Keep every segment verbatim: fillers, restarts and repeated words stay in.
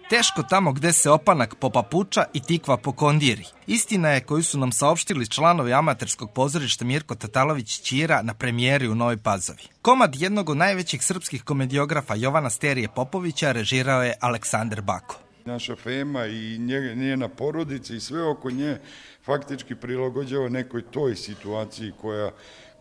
Teško tamo gde se opanak popapuča i tikva pokondiri. Istina je koju su nam saopštili članovi amaterskog pozorišta Mirko Tatalović Ćira na premijeri u Novoj Pazovi. Komad jednog od najvećih srpskih komediografa Jovana Sterije Popovića režirao je Aleksandar Bako. Naša Fema i njena porodica i sve oko nje faktički prilagođava nekoj toj situaciji koja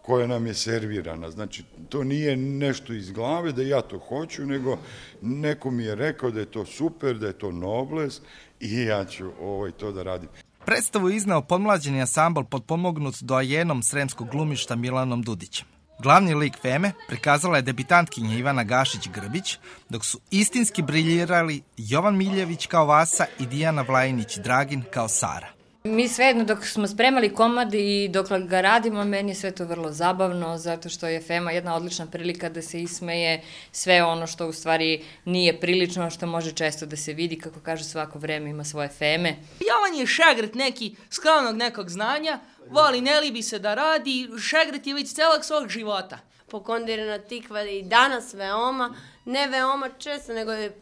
koja nam je servirana. Znači, to nije nešto iz glave da ja to hoću, nego neko mi je rekao da je to super, da je to nobles i ja ću ovaj, to da radim. Predstavu je izneo podmlađeni ansambl potpomognut doajenom sremskog glumišta Milanom Dudićem. Glavni lik Feme prikazala je debitantkinja Ivana Gašić-Grbić, dok su istinski briljirali Jovan Miljević kao Vasa i Dijana Vlajinić-Dragin kao Sara. Mi svejedno dok smo spremali komad i dok ga radimo, meni je sve to vrlo zabavno, zato što je Fema jedna odlična prilika da se ismeje sve ono što u stvari nije prilično, što može često da se vidi, kako kažu, svako vreme ima svoje Feme. Jovan je šegrt neki, skromnog nekog znanja, voli, ne libi se da radi, šegrt je već celog svog života. Pokondirana tikva i danas veoma, ne veoma često, nego je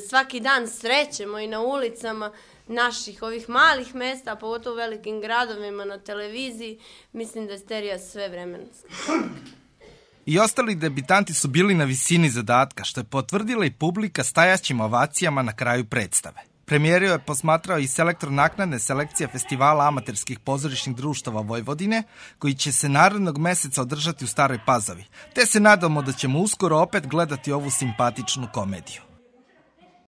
svaki dan srećemo i na ulicama naših ovih malih mesta, pogotovo u velikim gradovima, na televiziji. Mislim da je Sterija sve vremenska. I ostali debitanti su bili na visini zadatka, što je potvrdila i publika stajaćim ovacijama na kraju predstave. Premijeru je posmatrao i selektor naknadne selekcije Festivala amaterskih pozorišnih društava Vojvodine, koji će se narednog meseca održati u Staroj Pazovi, te se nadamo da ćemo uskoro opet gledati ovu simpatičnu komediju.